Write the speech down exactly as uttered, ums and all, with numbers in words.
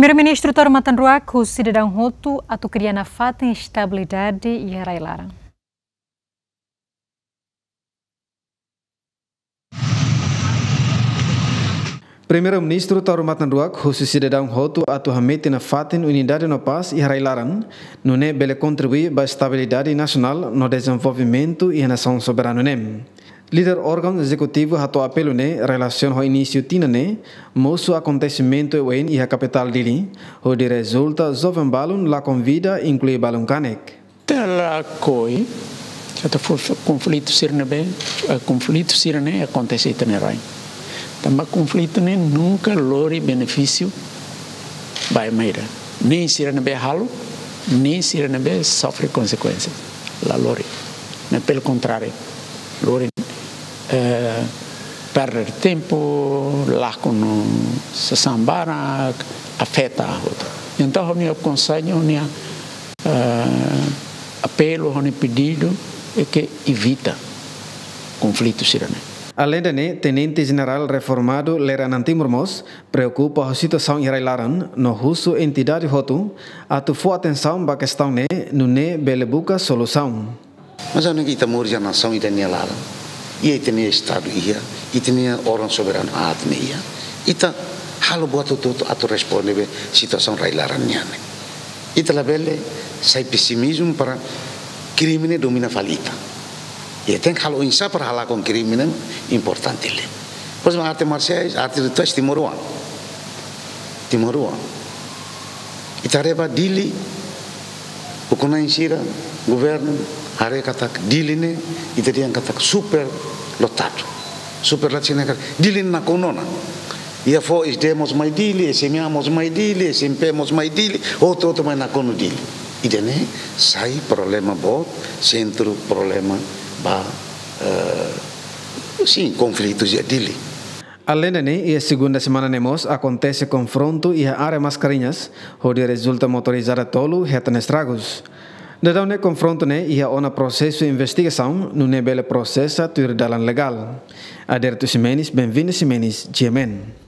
Primeiru-Ministru Taur Matan Ruak husu sidadaun hotu atu kria nafatin estabilidade iha rai-laran. Primeiru-Ministru Taur Matan Ruak husu sidadaun hotu atu hametin nafatin unidade no pás iha rai-laran, nune'e bele kontribui ba estabilidade nasionál no dezenvolvimentu iha nasaun soberanu ne'e. Líder órgaun ezekutivu hato'o apelu ne'e relasiona ho inísiu tinan ne'e, mosu akontesimentu oioin iha kapitál Dili, hodi rezulta joven balun lakon vida, inklui balun kanek. Ita lakohi, ita fó konflitu sira ne'ebé, eh, konflitu sira ne'e akontese iha ita-nia rai. Tanba konflitu ne'e nunka lori benefísiu ba ema ida. Nein sira ne'ebé halo, nein sira ne'ebé sofre konsekuénsia. La lori. Ne'e pelo contrário. Lori, eh, perder tempu, lakon sasán barak, afeta hotu. Entaun, ha'u-nia konsellu, ha'u-nia, eh, apelu, ha'u-nia pedidu, é que evita konflitu sira ne'e. Aleinde ne'e, Tenente Jenerál reformadu Lere Anan Timur mós preokupa ho situasaun iha rai-laran, no husu entidade hotu atu fó atensaun ba kestaun ne'e, nune'e bele buka solusaun. Mas anu ita moris iha nasaun ida-ne'e laran, iha ita-nia estadu iha, ita-nia órgaun soberanu aat ne'e iha, ita halo buat hotu-hotu atu responde ba situasaun rai-laran nian ne'e. Ita labele sai pesimizmu para krime ne'e domina fali ita. Ita tenke halo oinsá para halakon krime ne'e importante liu. Por ezemplu, arte marsiais, arte rituais timoroan. Timoroan. Ita haree ba Dili, ukun-na'in sira, governu, haree katak Dili ne'e, ita dehan katak super lotadu. Super lotadu sira ne'e katak Dili nakonu ona. Iha foin S D mós mai Dili, S M A mós mai Dili, S M P mós mai Dili, hotu-hotu mai nakonu Dili. Ida-ne'e sai problema boot, sentru problema ba, eh, sin, konflitu iha Dili. Aleinde ne'e, iha segunda semana ne'e mós akontese konfrontu iha área Mascarenhas, hodi rezulta motorizada tolu hetan estragus. Daudaun ne'e konfrontu ne'e iha ona prosesu investigasaun, nune'e bele prosesa tuir dalan legál. Aderito Ximenes, Benvinda Ximenes, G M N.